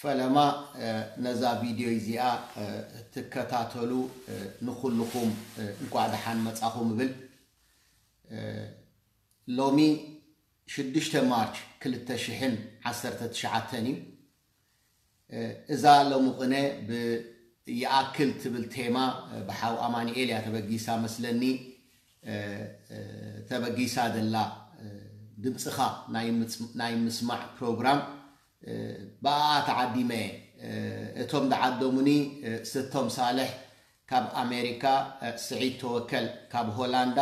ፈለማ ነዛ ቪድዮ እዚኣ ትከታተሉ ንኩልኹም እንኳዕ ደሓን መጻኹም እብል። ሎሚ ሽዱሽተ ማርች ክልተ ሽሕን ዓሰርተ ትሽዓተን እዩ። እዛ ሎሚ ቅነ ብይኣክል ትብል ቴማ ብሓው ኣማኒኤል እያ ተበጊሳ መስለኒ። ተበጊሳ ዘላ ድምፅኻ ናይ ምስማዕ ፕሮግራም ብኣ ተዓዲመ። እቶም ዝዓደሙኒ ስቶም ሳልሕ ካብ ኣሜሪካ፣ ስዒድ ተወከል ካብ ሆላንዳ፣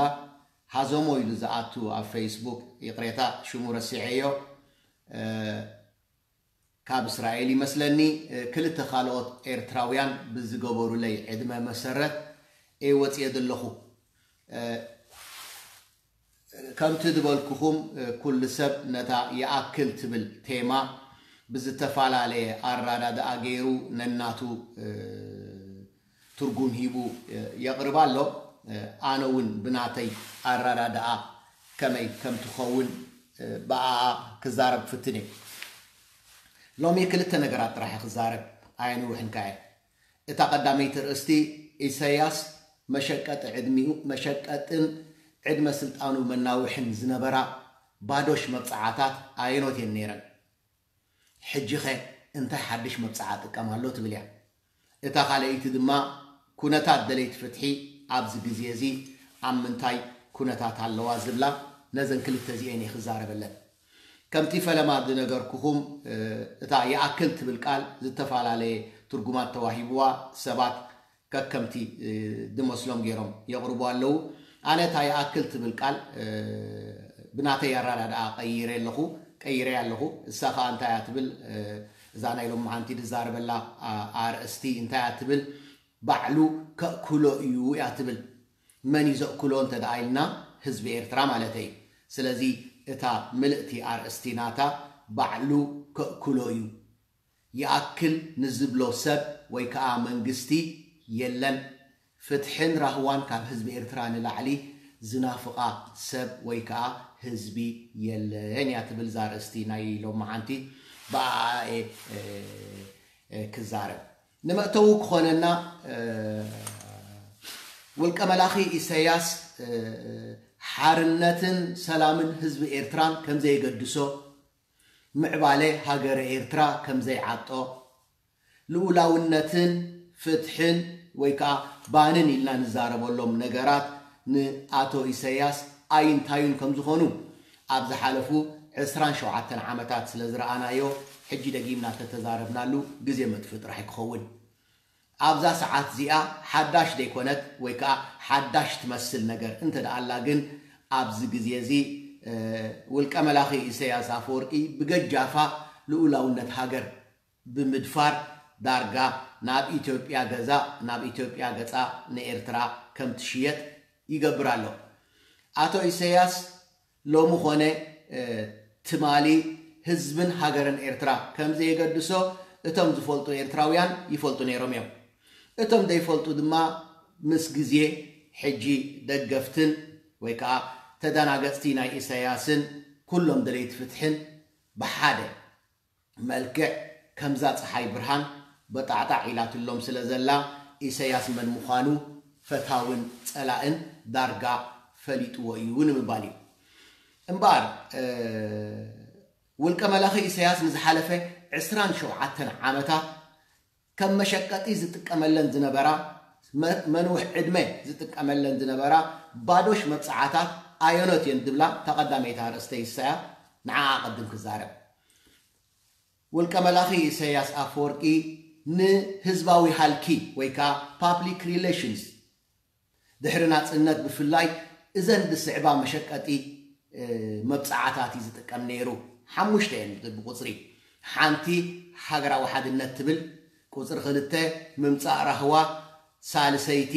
ሃዞሞ ኢሉ ዝኣቱ ኣብ ፌስቡክ፣ ይቕሬታ ሽሙ ረሲዐዮ፣ ካብ እስራኤል ይመስለኒ። ክልተ ካልኦት ኤርትራውያን ብዝገበሩለይ ዕድመ መሰረት እየ ወፅየ ዘለኹ። ከምቲ ዝበልኩኹም ኩሉ ሰብ ነታ ይኣክል ትብል ቴማ ብዝተፈላለየ ኣራዳድኣ ገይሩ ነናቱ ትርጉም ሂቡ የቕርባ ኣሎ። ኣነ እውን ብናተይ ኣራዳድኣ ከመይ ከም ትኸውን ብኣኣ ክዛረብ ፍትን እየ። ሎሚ ክልተ ነገራት ጥራሕ ክዛረብ ኣየንውሕን ከኣ። እታ ቀዳመይቲ ርእስቲ ኢሳያስ መሸቀጢ ዕድሚኡ መሸቀጥን ዕድመ ስልጣኑ መናውሕን ዝነበራ ባዶሽ መብጽዓታት ኣየኖት እየን ነይረን? ሕጂኸ እንታይ ሓድሽ መብጽዓ ጥቀም ኣሎ ትብል እያ። እታ ካልኣይቲ ድማ ኩነታት ደለይቲ ፍትሒ ኣብዚ ግዜ እዚ ኣብ ምንታይ ኩነታት ኣለዋ ዝብላ ነዘን ክልተ እዚኤን እየ ክዛረበለን። ከምቲ ፈለማ ዝነገርኩኹም እታ ይኣክል ትብል ቃል ዝተፈላለየ ትርጉማት ተዋሂብዋ ሰባት ከከምቲ ዝመስሎም ገይሮም የቕርቡ ኣለዉ። ኣነ እታ ይኣክል ትብል ቃል ብናተይ ኣራዳድኣ ቀይረ ኣለኹ ቀይረ ኣለኹ። እሳ ከዓ እንታይ እያ ትብል? እዛ ናይ ሎም መዓንቲ ዝዛረበላ ኣርእስቲ እንታይ እያ ትብል? ባዕሉ ከእክሎ እዩ እያ ትብል። መን እዩ ዘእክሎ እንተ ደኣ ኢልና ህዝቢ ኤርትራ ማለት እዩ። ስለዚ እታ ምልእቲ ኣርእስቲ ናታ ባዕሉ ከእክሎ እዩ። ይኣክል ንዝብሎ ሰብ ወይ ከዓ መንግስቲ የለን። ፍትሕን ራህዋን ካብ ህዝቢ ኤርትራ ንላዕሊ ዝናፍቓ ሰብ ወይ ከዓ ህዝቢ የለን እያ ትብል እዛ ኣርእስቲ ናይ ሎም መዓንቲ። ብኣኣ እየ ክዛረብ። ንመእተዊ ክኾነና ውልቀ መላኺ ኢሳያስ ሓርነትን ሰላምን ህዝቢ ኤርትራን ከምዘየገድሶ፣ ምዕባለ ሃገረ ኤርትራ ከምዘይዓጦ፣ ልኡላውነትን ፍትሕን ወይ ከዓ ባንን ኢልና ንዛረበሎም ነገራት ንኣቶ ኢሳያስ ኣይንታዩን ከም ዝኾኑ ኣብ ዝሓለፉ ዕስራን ሸውዓተን ዓመታት ስለ ዝረኣናዮ፣ ሕጂ ደጊምና ተተዛረብናሉ ግዜ መጥፍእ ጥራሕ ክኸውን። ኣብዛ ሰዓት እዚኣ ሓዳሽ ዘይኮነት ወይ ከዓ ሓዳሽ ትመስል ነገር እንተ ደኣ ኣላ ግን፣ ኣብዚ ግዜ እዚ ውልቀ መላኺ ኢሳያስ ኣፈወርቂ ብገጃፋ ልኡላውነት ሃገር ብምድፋር ዳርጋ ናብ ኢትዮጵያ ገዛ ናብ ኢትዮጵያ ገጻ ንኤርትራ ከም ትሽየጥ ይገብር ኣሎ። ኣቶ ኢሳያስ ሎሚ ኾነ ትማሊ ህዝብን ሃገርን ኤርትራ ከም ዘየገድሶ እቶም ዝፈልጡ ኤርትራውያን ይፈልጡ ነይሮም እዮም። እቶም ዘይፈልጡ ድማ ምስ ግዜ ሕጂ ደገፍትን ወይ ከዓ ተደናገጽቲ ናይ ኢሳያስን ኩሎም ደለይቲ ፍትሕን ብሓደ መልክዕ ከምዛ ጸሓይ ብርሃን በጣዕጣዕ ኢላትሎም ስለ ዘላ፣ ኢሳያስ መን ምዃኑ ፈታውን ጸላእን ዳርጋ ፈሊጥዎ እዩ ንምባል እዩ። እምበኣር ውልቀ መላኺ ኢሳያስ ንዝሓለፈ ዕስራን ሸውዓተን ዓመታት ከም መሸቀጢ ዝጥቀመለን ዝነበራ፣ መንውሕ ዕድመ ዝጥቀመለን ዝነበራ ባዶሽ መብጽዓታት ኣየኖት እየን ዝብላ ተቐዳመይቲ ኣርእስተይ እሳያ። ንዓኣ ኣቐድም ክዛረብ። ውልቀ መላኺ ኢሳያስ ኣፈወርቂ ንህዝባዊ ሃልኪ ወይ ከዓ ፓብሊክ ሪሌሽንስ ድሕሪ ናጽነት ብፍላይ እዘን ዝስዕባ መሸቀጢ መብጽዓታት እዩ ዝጥቀም ነይሩ። ሓሙሽተ እየን ብቁጽሪ። ሓንቲ ሃገራዊ ሓድነት ትብል፣ ቁጽሪ ክልተ ምምጻእ ራህዋ፣ ሳልሰይቲ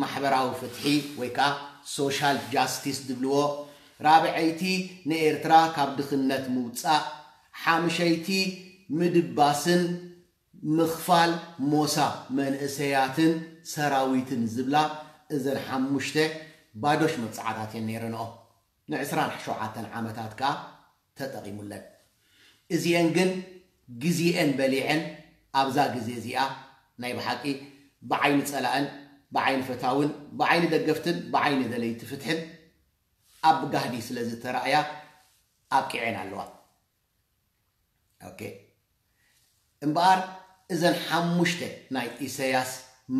ማሕበራዊ ፍትሒ ወይ ከዓ ሶሻል ጃስቲስ ዝብልዎ፣ ራብዐይቲ ንኤርትራ ካብ ድኽነት ምውጻእ፣ ሓምሸይቲ ምድባስን ምኽፋል ሞሳ መንእሰያትን ሰራዊትን ዝብላ እዘን ሓሙሽተ ባዶሽ መብጽዓታት እየን ነይረንኦ። ንዕስራን ሸውዓተን ዓመታት ከኣ ተጠቒሙለን። እዚኤን ግን ግዜኤን በሊዐን ኣብዛ ግዜ እዚኣ ናይ ብሓቂ ብዓይኒ ጸላእን ብዓይኒ ፈታውን ብዓይኒ ደገፍትን ብዓይኒ ደለይቲ ፍትሕን ኣብ ጋህዲ ስለ ዝተራእያ ኣብቂዐን ኣለዋ። ኦኬ። እምበኣር እዘን ሓሙሽተ ናይ ኢሰያስ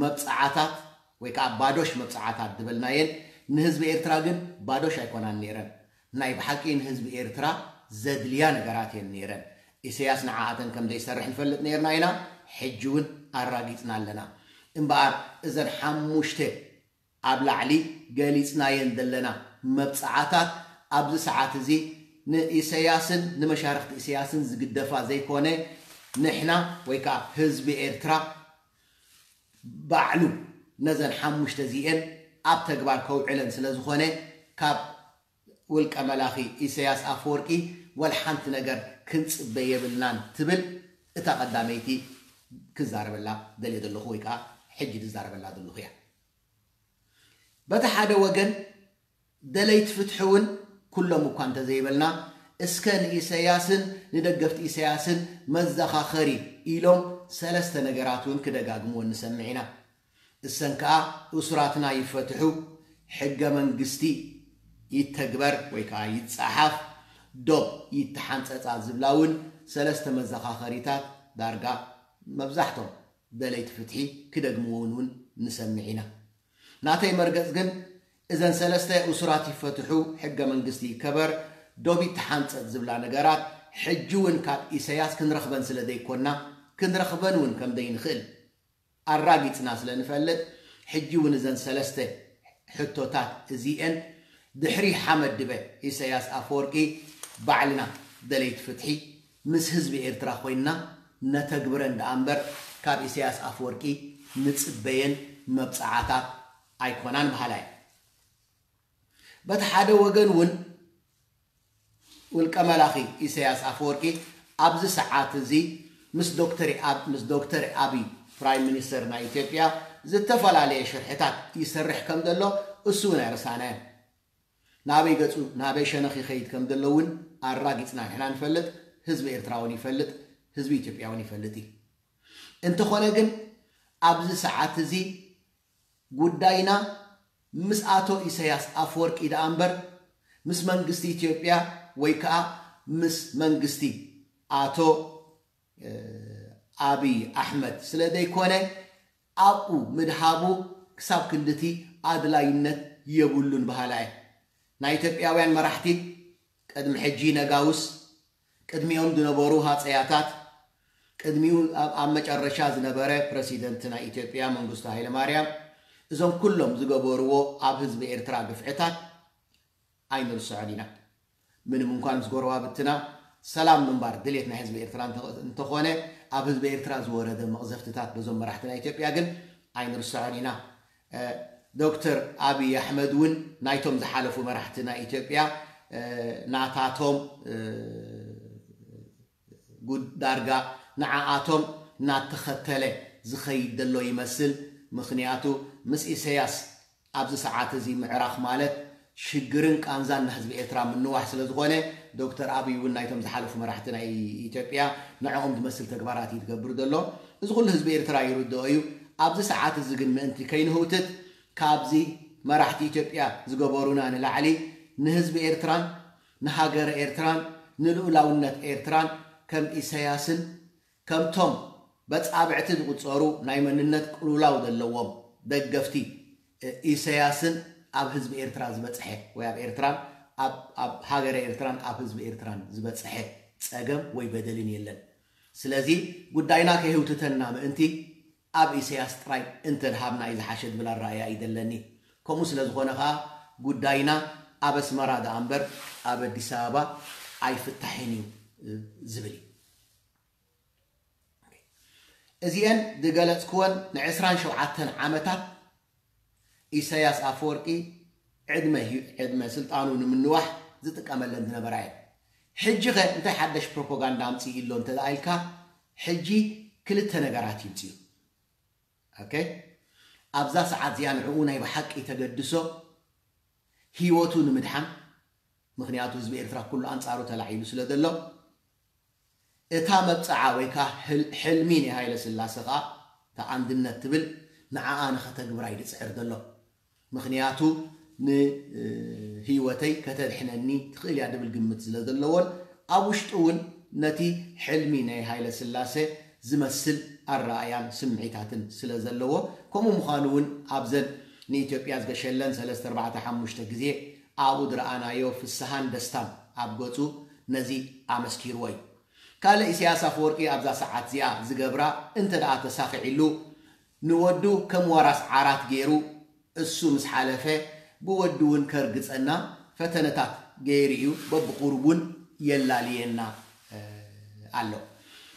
መብጽዓታት ወይ ከዓ ባዶሽ መብጽዓታት ዝበልናየን ንህዝቢ ኤርትራ ግን ባዶሽ ኣይኮናን ነይረን። ናይ ብሓቂ ንህዝቢ ኤርትራ ዘድልያ ነገራት እየን ነይረን። ኢሰያስ ንዓኣተን ከም ዘይሰርሕ ንፈልጥ ነይርና ኢና። ሕጂ እውን ኣራጊጽና ኣለና። እምበኣር እዘን ሓሙሽተ ኣብ ላዕሊ ገሊጽናየን ዘለና መብጽዓታት ኣብዚ ሰዓት እዚ ንኢሰያስን ንመሻርኽቲ ኢሰያስን ዝግደፋ ዘይኮነ ንሕና ወይ ከዓ ህዝቢ ኤርትራ ባዕሉ ነዘን ሓሙሽተ እዚኤን ኣብ ተግባር ከውዕለን ስለ ዝኾነ ካብ ውልቀ መላኺ ኢሰያስ ኣፈወርቂ ወላ ሓንቲ ነገር ክንጽበ የብልናን ትብል እታ ቀዳመይቲ ክዛረበላ ደልየ ዘለኹ ወይ ከዓ ሕጂ ዝዛረበላ ዘለኹ እያ። በቲ ሓደ ወገን ደለይቲ ፍትሒ እውን ኩሎም እኳ እንተዘይበልና እስከ ንኢሰያስን ንደገፍቲ ኢሰያስን መዘኻኸሪ ኢሎም ሰለስተ ነገራት እውን ክደጋግምዎ ንሰምዕ ኢና። እሰን ከዓ እሱራትና ይፈትሑ፣ ሕገ መንግስቲ ይተግበር ወይ ከዓ ይፀሓፍ፣ ዶብ ይተሓንፀፃ ዝብላ እውን ሰለስተ መዘኻኸሪታት ዳርጋ መብዛሕቶም ደለይቲ ፍትሒ ክደግምዎ እውን ንሰምዕ ኢና። ናተይ መርገፅ ግን እዘን ሰለስተ እሱራት ይፈትሑ፣ ሕገ መንግስቲ ይከበር፣ ዶብ ይተሓንፀፅ ዝብላ ነገራት ሕጂ እውን ካብ ኢሰያስ ክንረኽበን ስለ ዘይኮና ክንረኽበን እውን ከም ዘይንኽእል ኣራጊፅና ስለ ንፈልጥ ሕጂ እውን እዘን ሰለስተ ሕቶታት እዚኤን ድሕሪ ሓመድ ድበ ኢሰያስ ኣፈወርቂ ባዕልና ደለይቲ ፍትሒ ምስ ህዝቢ ኤርትራ ኮይንና ነተግብረን ደኣ እምበር ካብ ኢሰያስ ኣፈወርቂ ንጽበየን መብጽዓታት ኣይኮናን በሃላይ። በቲ ሓደ ወገን እውን ውልቀ መላኺ ኢሰያስ ኣፈወርቂ ኣብዚ ሰዓት እዚ ምስ ዶክተር ኣብ ምስ ዶክተር ኣብይ ፕራይም ሚኒስተር ናይ ኢትዮጵያ ዝተፈላለየ ሽርሕታት ይሰርሕ ከም ዘሎ እሱ እውን ኣይረሳዕናዮን። ናበይ ገጹ ናበይ ሸነኽ ይኸይድ ከም ዘሎ እውን ኣራጊጽና ንሕና ንፈልጥ፣ ህዝቢ ኤርትራ እውን ይፈልጥ፣ ህዝቢ ኢትዮጵያ እውን ይፈልጥ እዩ። እንተኾነ ግን ኣብዚ ሰዓት እዚ ጉዳይና ምስ ኣቶ ኢሰያስ ኣፈወርቂ ደኣ እምበር ምስ መንግስቲ ኢትዮጵያ ወይ ከዓ ምስ መንግስቲ ኣቶ ኣብይ ኣሕመድ ስለ ዘይኮነ ኣብኡ ምድሃቡ ክሳብ ክንድቲ ኣድላይነት የብሉን በሃላ እየ። ናይ ኢትዮጵያውያን መራሕቲ ቅድሚ ሕጂ ነጋውስ ቅድሚኦም ዝነበሩ ሃፀያታት ቅድሚኡ ኣብ መጨረሻ ዝነበረ ፕረሲደንት ናይ ኢትዮጵያ መንግስቱ ሃይለማርያም እዞም ኩሎም ዝገበርዎ ኣብ ህዝቢ ኤርትራ ግፍዕታት ኣይንርስዖን ኢና። ምንም እንኳን ምስ ጎረባብትና ሰላም ምንባር ድሌት ናይ ህዝቢ ኤርትራ እንተኾነ ኣብ ህዝቢ ኤርትራ ዝወረደ መቕዘፍትታት በዞም መራሕቲ ናይ ኢትዮጵያ ግን ኣይንርስዖን ኢና። ዶክተር ኣብይ ኣሕመድ እውን ናይቶም ዝሓለፉ መራሕቲ ናይ ኢትዮጵያ ናታቶም ዳርጋ ንዓኣቶም እናተኸተለ ዝኸይድ ዘሎ ይመስል። ምኽንያቱ ምስ ኢሰያስ ኣብዚ ሰዓት እዚ ምዕራኽ ማለት ሽግርን ቃንዛን ንህዝቢ ኤርትራ ምንዋሕ ስለ ዝኾነ ዶክተር ኣብይ እውን ናይቶም ዝሓለፉ መራሕቲ ናይ ኢትዮጵያ ንዕኦም ዝመስል ተግባራት እዩ ዝገብር ዘሎ። እዚ ኩሉ ህዝቢ ኤርትራ ይርድኦ እዩ። ኣብዚ ሰዓት እዚ ግን ምእንቲ ከይንህውትት ካብዚ መራሕቲ ኢትዮጵያ ዝገበሩና ንላዕሊ ንህዝቢ ኤርትራን ንሃገረ ኤርትራን ንልኡላውነት ኤርትራን ከም ኢሰያስን ከምቶም በጻብዕቲ ዝቑጸሩ ናይ መንነት ቅልውላው ዘለዎም ደገፍቲ ኢሰያስን ኣብ ህዝቢ ኤርትራ ዝበጽሐ ወይ ኣብ ኤርትራን ኣብ ሃገረ ኤርትራን ኣብ ህዝቢ ኤርትራን ዝበጽሐ ጸገም ወይ በደልን የለን። ስለዚ ጉዳይና ከይህውትተና ምእንቲ ኣብ ኢሰያስ ጥራይ እንተድሃብና እዩ ዝሓሸ ዝብል ኣረኣእያ እዩ ዘለኒ። ከምኡ ስለ ዝኾነ ኸኣ ጉዳይና ኣብ ኣስመራ ደኣ እምበር ኣብ ኣዲስ ኣበባ ኣይፍታሕን እዩ ዝብል እዩ። እዚአን ዝገለጽክወን ንዕስራን ሸውዓተን ዓመታት ኢሳያስ ኣፈወርቂ ዕድመ ህዩ- ዕድመ ስልጣኑ ንምንዋሕ ዝጥቀመለን ዝነበራ እየን። ሕጂ ኸ እንታይ ሓደሽ ፕሮፓጋንዳ ኣምፅእ ኣሎ እንተ ደኣ ኢልካ ሕጂ ክልተ ነገራት ይምፅኡ። ኦኬ፣ ኣብዛ ሰዓት እዚኣ ንዕኡ ናይ ብሓቂ ተገድሶ ህይወቱ ንምድሓን፣ ምኽንያቱ ህዝቢ ኤርትራ ኩሉ ኣንጻሩ ተላዒሉ ስለ ዘሎ እታ መብፅዓ ወይ ከዓ ህል- ሕልሚ ናይ ሃይለ ስላሴ ከዓ እታ ኣንድነት ትብል ንዓኣ ንኸተግብራ እዩ ዝፅዕር ዘሎ። ምኽንያቱ ንህይወተይ ከተድሕነኒ ትኽእል እያ ድብል ግምት ስለ ዘለዎን ኣብ ውሽጡ እውን ነቲ ሕልሚ ናይ ሃይለ ስላሴ ዝመስል ኣረኣያን ስምዒታትን ስለ ዘለዎ፣ ከምኡ ምዃኑ እውን ኣብዘን ንኢትዮጵያ ዝገሸለን ሰለስተ ኣርባዕተ ሓሙሽተ ግዜ ኣብኡ ዝረኣናዮ ፍስሃን ደስታን ኣብ ገፁ ነዚ ኣመስኪርዎ እዩ። ካልእ ኢሳያስ ኣፈወርቂ ኣብዛ ሰዓት እዚኣ ዝገብራ እንተ ደኣ ተሳኺዕሉ ንወዱ ከም ዋራስ ዓራት ገይሩ እሱ ምስ ሓለፈ ብወዱ እውን ከርግጸና ፈተነታት ገይሩ እዩ። በብቁሩብ እውን የላልየና ኣሎ።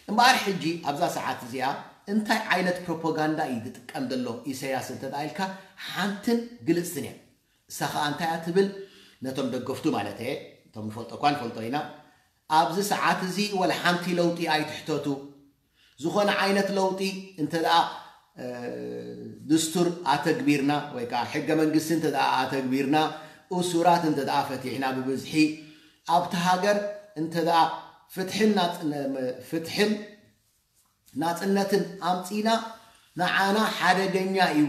እምበኣር ሕጂ ኣብዛ ሰዓት እዚኣ እንታይ ዓይነት ፕሮፓጋንዳ እዩ ዝጥቀም ዘሎ ኢሳያስ እንተ ኢልካ ሓንትን ግልጽትን እያ። እሳ ከዓ እንታይ እያ ትብል? ነቶም ደገፍቱ ማለት እየ፣ እቶም ንፈልጦ እኳ ንፈልጦ ኢና። ኣብዚ ሰዓት እዚ ወላ ሓንቲ ለውጢ ኣይትሕተቱ። ዝኾነ ዓይነት ለውጢ እንተ ደኣ ድስቱር ኣተግቢርና ወይ ከዓ ሕገ መንግስቲ እንተ ደኣ ኣተግቢርና፣ እሱራት እንተ ደኣ ፈቲሕና ብብዝሒ ኣብቲ ሃገር እንተ ደኣ ፍትሕን ናጽነ- ፍትሕን ናጽነትን ኣምጺና ንዓና ሓደገኛ እዩ።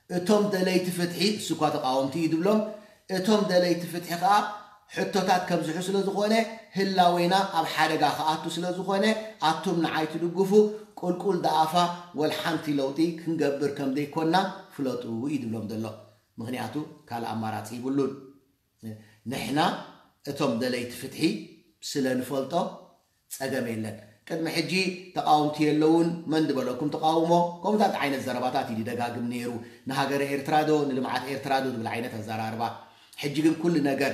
እቶም ደለይቲ ፍትሒ እሱ እኳ ተቃወምቲ እዩ ድብሎም፣ እቶም ደለይቲ ፍትሒ ከዓ ሕቶታት ከብዝሑ ስለ ዝኾነ ህላዌና ኣብ ሓደጋ ክኣቱ ስለ ዝኾነ ኣቱም ንዓይ ትድግፉ ቁልቁል ደኣፋ ወልሓንቲ ለውጢ ክንገብር ከም ዘይኮና ፍለጡ እዩ ድብሎም ዘሎ። ምኽንያቱ ካልእ ኣማራጺ ይብሉን። ንሕና እቶም ደለይቲ ፍትሒ ስለ ንፈልጦ ጸገም የለን። ቅድሚ ሕጂ ተቃወምቲ የለውን መን ዝበለኩም ተቃውሞ ከምታት ዓይነት ዘረባታት እዩ ደጋግም ነይሩ። ንሃገረ ኤርትራ ዶ ንልምዓት ኤርትራ ዶ ዝብል ዓይነት ኣዘራርባ። ሕጂ ግን ኩሉ ነገር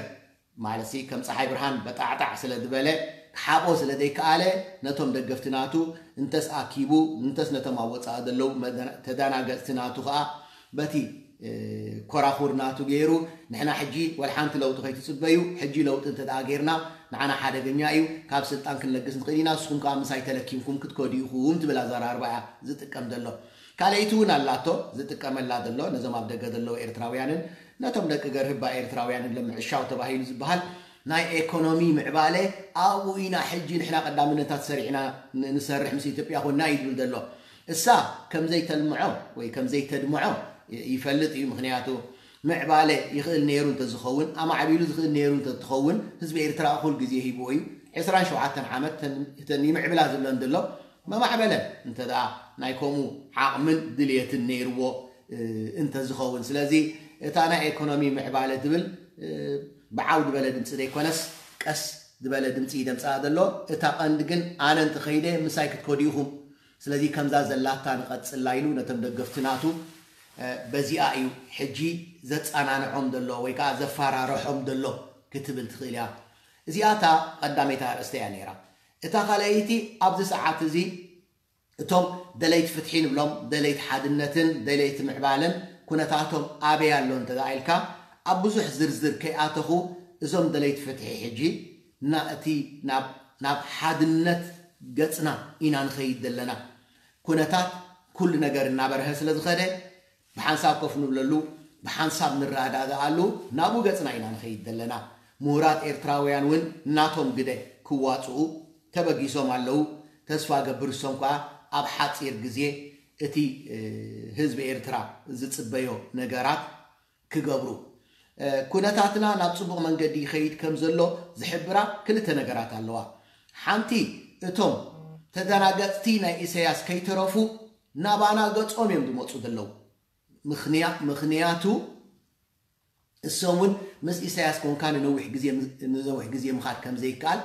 ማለት ከም ፀሓይ ብርሃን በጣዕጣዕ ስለ ዝበለ ክሓቆ ስለ ዘይከኣለ ነቶም ደገፍቲ ናቱ እንተስ ኣኪቡ እንተስ ነቶም ኣብ ወፃኢ ዘለዉ ተዳናገፅቲ ናቱ ከዓ በቲ ኮራኹር ናቱ ገይሩ ንሕና ሕጂ ወላ ሓንቲ ለውጢ ከይትፅበዩ፣ ሕጂ ለውጢ እንተ ደኣ ገይርና ንዓና ሓደገኛ እዩ፣ ካብ ስልጣን ክንለግስ ንኽእል ኢና፣ ንስኹም ከዓ ምሳይ ተለኪምኩም ክትከዱ ኢኹም ትብል ኣዘራርባ እያ ዝጥቀም ዘሎ። ካልኣይቲ እውን ኣላቶ ዝጥቀመላ ዘሎ ነዞም ኣብ ደገ ዘለዉ ኤርትራውያንን ነቶም ደቂ ገርህባ ኤርትራውያንን ለምዕሻው ተባሂሉ ዝበሃል ናይ ኤኮኖሚ ምዕባለ ኣብኡ ኢና ሕጂ ንሕና ቀዳምነታት ሰሪዕና ንሰርሕ ምስ ኢትዮጵያ ኮና እዩ ዝብል ዘሎ። እሳ ከምዘይተልምዖ ወይ ከምዘይተድምዖ ይፈልጥ እዩ። ምኽንያቱ ምዕባለ ይኽእል ነይሩ እንተዝኸውን ኣማዕቢሉ ዝኽእል ነይሩ እንተትኸውን ህዝቢ ኤርትራ ኩል ግዜ ሂብዎ እዩ። ዕስራን ሸውዓተን ዓመት እተን ይምዕብላ ዝብለን ዘሎ መማዕበለን እንተ ደኣ ናይ ከምኡ ዓቕምን ድልየትን ነይርዎ እንተዝኸውን። ስለዚ እታ ናይ ኤኮኖሚ ምዕባለ ትብል ብዓው ዝበለ ድምፂ ዘይኮነስ ቀስ ዝበለ ድምፂ እዩ ደምፅኣ ዘሎ። እታ ቀንዲ ግን ኣነ እንተኸይደ ምሳይ ክትከዱ ኢኹም። ስለዚ ከምዛ ዘላታ ንቐፅላ ኢሉ ነቶም ደገፍቲ ናቱ በዚኣ እዩ ሕጂ ዘፀናንዖም ዘሎ ወይ ከዓ ዘፈራርሖም ዘሎ ክትብል ትኽእል እያ። እዚኣ እታ ቀዳመይቲ ኣርእስተ እያ ነይራ። እታ ካልኣይቲ ኣብዚ ሰዓት እዚ እቶም ደለይቲ ፍትሒ ንብሎም ደለይቲ ሓድነትን ደለይቲ ምዕባለን ኩነታቶም ኣበይ ኣሎ እንተ ኢልካ ኣብ ብዙሕ ዝርዝር ከይኣተኹ እዞም ደለይቲ ፍትሒ ሕጂ ናእቲ ናብ ሓድነት ገፅና ኢና ንኸይድ ዘለና። ኩነታት ኩሉ ነገር እናበርሀ ስለ ዝኸደ ብሓንሳብ ኮፍ ንብለሉ ብሓንሳብ ንረዳድኣሉ ናብኡ ገፅና ኢና ንኸይድ ዘለና። ምሁራት ኤርትራውያን እውን ናቶም ግደ ክዋፅኡ ተበጊሶም ኣለዉ። ተስፋ ገብር እሶም ከዓ ኣብ ሓፂር ግዜ እቲ ህዝቢ ኤርትራ ዝፅበዮ ነገራት ክገብሩ። ኩነታትና ናብ ፅቡቕ መንገዲ ይኸይድ ከም ዘሎ ዝሕብራ ክልተ ነገራት ኣለዋ። ሓንቲ እቶም ተደናገፅቲ ናይ ኢሳያስ ከይተረፉ ናባና ገፆም እዮም ዝመፁ ዘለዉ። ምኽንያቱ እሶም እውን ምስ ኢሳያስ ኮንካ ንነዊሕ ግዜ ምኻድ ከም ዘይከኣል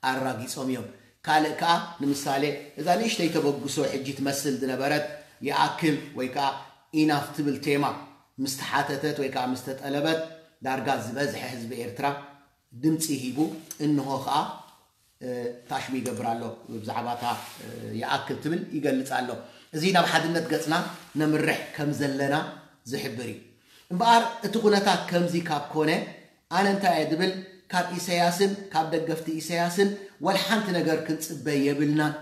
ኣራጊጾም እዮም። ካልእ ከኣ ንምሳሌ እዛ ንእሽተይ ተበግሶ ሕጂ ትመስል ዝነበረት ይኣክል ወይ ከኣ ኢናፍ ትብል ቴማ ምስ ተሓተተት ወይ ከኣ ምስ ተጠለበት ዳርጋ ዝበዝሐ ህዝቢ ኤርትራ ድምጺ ሂቡ እንሆ ከኣ ታሽሙ ይገብር ኣሎ። ብዛዕባ እታ ይኣክል ትብል ይገልጽ ኣሎ። እዚ ናብ ሓድነት ገጽና ነምርሕ ከም ዘለና ዝሕብር እዩ። እምበኣር እቲ ኩነታት ከምዚ ካብ ኮነ ኣነ እንታይ እየ ዝብል ካብ ኢሳያስን ካብ ደገፍቲ ኢሳያስን ወላ ሓንቲ ነገር ክንጽበ የብልናን።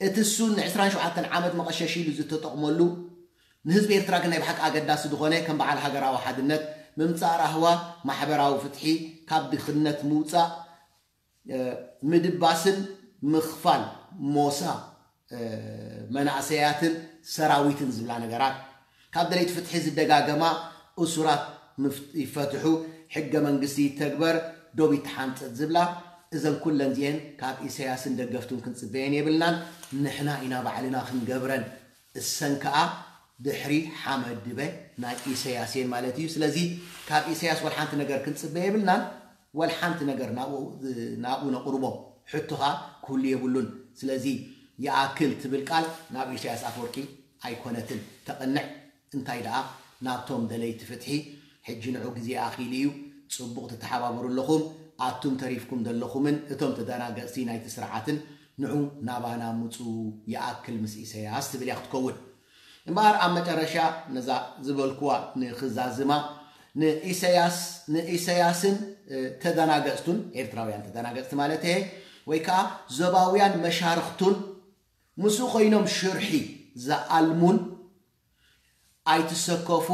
እቲ እሱ ን ዕስራን ሸውዓተን ዓመት መቐሸሽ ኢሉ ዝተጠቕመሉ ንህዝቢ ኤርትራ ግን ናይ ብሓቂ ኣገዳሲ ዝኾነ ከም በዓል ሃገራዊ ሓድነት፣ ምምጻእ ራህዋ፣ ማሕበራዊ ፍትሒ፣ ካብ ድኽነት ምውጻእ፣ ምድባስን ምኽፋል ሞሳ መናእሰያትን ሰራዊትን ዝብላ ነገራት፣ ካብ ደለይቲ ፍትሒ ዝደጋገማ እሱራት ይፈትሑ፣ ሕገ መንግስቲ ይተግበር፣ ዶብ ይተሓንፀጥ ዝብላ፣ እዘን ኩለን እዚአን ካብ ኢሰያስን ደገፍቱን ክንፅበየን የብልናን። ንሕና ኢና ባዕልና ክንገብረን። እሰን ከዓ ድሕሪ ሓመድ ድበ ናይ ኢሰያስ እየን ማለት እዩ። ስለዚ ካብ ኢሰያስ ወልሓንቲ ነገር ክንፅበ የብልናን። ወልሓንቲ ነገር ናብኡ ነቕርቦ ሕቶ ከዓ ክህሉ የብሉን። ስለዚ ይኣክል ትብል ቃል ናብ ኢሰያስ ኣፈወርቂ ኣይኮነትን ተቕንዕ። እንታይ ደኣ ናብቶም ደለይቲ ፍትሒ ሕጂ ንዑ ግዜ ኣኺሉ እዩ። ጽቡቕ ትተሓባበሩ ኣለኹም። ኣቱም ተሪፍኩም ዘለኹምን እቶም ተደናገጽቲ ናይቲ ስርዓትን ንዑ ናባና ምጹ ይኣክል ምስ ኢሰያስ ትብል እያ ክትከውን። እምበኣር ኣብ መጨረሻ ነዛ ዝበልኩዋ ንኽዛዝማ ንኢሰያስ ንኢሰያስን ተደናገጽቱን ኤርትራውያን ተደናገጽቲ ማለት እየ ወይ ከዓ ዞባውያን መሻርኽቱን ምስኡ ኮይኖም ሽርሒ ዝኣልሙን ኣይትሰከፉ፣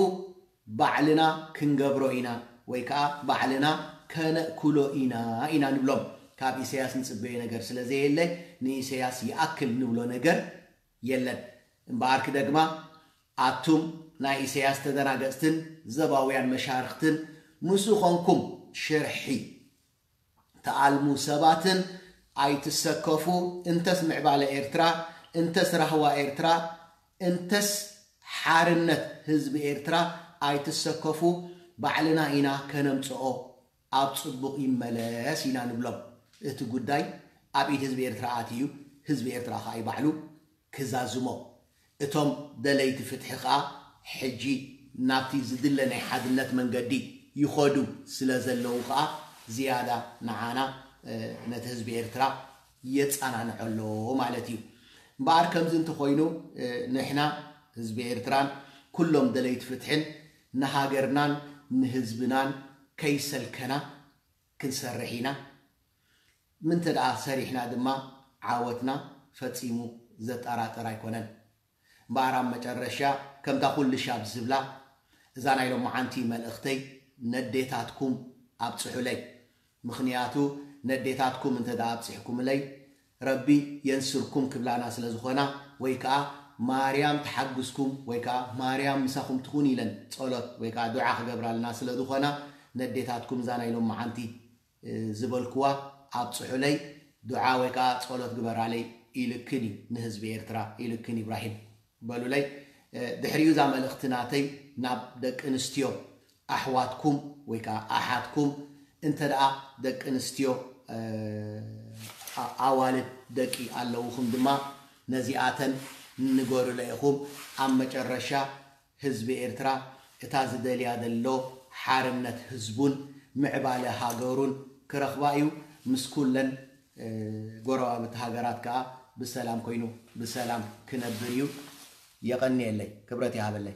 ባዕልና ክንገብሮ ኢና ወይ ከዓ ባዕልና ከነእክሎ ኢና ኢና ንብሎም። ካብ ኢሰያስ ንፅበዮ ነገር ስለ ዘየለ ንኢሰያስ ይኣክል ንብሎ ነገር የለን። እምበኣር ክደግማ፣ ኣቱም ናይ ኢሰያስ ተደናገፅትን ዘባውያን መሻርክትን ምስኡ ኾንኩም ሽርሒ ተኣልሙ ሰባትን ኣይትሰከፉ። እንተስ ምዕባለ ኤርትራ፣ እንተስ ራህዋ ኤርትራ፣ እንተስ ሓርነት ህዝቢ ኤርትራ ኣይትሰከፉ። ባዕልና ኢና ከነምጽኦ። ኣብ ጽቡቕ ይመለስ ኢና ንብሎም። እቲ ጉዳይ ኣብ ኢድ ህዝቢ ኤርትራ ኣትዩ፣ ህዝቢ ኤርትራ ከኣ እዩ ባዕሉ ክዛዝሞ። እቶም ደለይቲ ፍትሒ ከኣ ሕጂ ናብቲ ዝድለ ናይ ሓድነት መንገዲ ይኸዱ ስለ ዘለዉ ከኣ ዝያዳ ንዓና ነቲ ህዝቢ ኤርትራ የጸናንዖ ኣሎ ማለት እዩ። እምበኣር ከምዚ እንተኾይኑ ንሕና ህዝቢ ኤርትራን ኩሎም ደለይቲ ፍትሕን ንሃገርናን ንህዝብናን ከይሰልከና ክንሰርሕ ኢና። ምንተ ደኣ ሰሪሕና ድማ ዓወትና ፈጺሙ ዘጠራጥር ኣይኮነን። እምበኣር ኣብ መጨረሻ ከምታ ኩሉ ሻብ ዝብላ እዛ ናይ ሎመዓንቲ መልእኽተይ ነዴታትኩም ኣብጽሑለይ። ምኽንያቱ ነዴታትኩም እንተ ደኣ ኣብጺሕኩምለይ ረቢ የንስርኩም ክብላና ስለ ዝኾና ወይ ከኣ ማርያም ትሓግዝኩም ወይ ከኣ ማርያም ምሳኹም ትኹን ኢለን ጸሎት ወይ ከኣ ዱዓ ክገብራልና ስለ ዝኾና ነዴታትኩም እዛ ናይ ሎመዓንቲ ዝበልክዋ ኣብጽሑለይ፣ ዱዓ ወይ ከዓ ጸሎት ግበራለይ ኢልክን እዩ ንህዝቢ ኤርትራ ኢልክን ኢብራሂም በሉለይ። ድሕሪኡ እዛ መልእኽቲ ናተይ ናብ ደቂ ኣንስትዮ ኣሕዋትኩም ወይ ከዓ ኣሓትኩም እንተ ደኣ ደቂ ኣንስትዮ ኣዋልድ ደቂ ኣለውኹም ድማ ነዚኣተን ንገሩለ ኢኹም። ኣብ መጨረሻ ህዝቢ ኤርትራ እታ ዝደልያ ዘሎ ሓርነት ህዝቡን ምዕባለ ሃገሩን ክረኽባ እዩ። ምስ ኩለን ጎረባብቲ ሃገራት ከኣ ብሰላም ኮይኑ ብሰላም ክነብር እዩ። የቐንየለይ፣ ክብረት ይሃበለይ።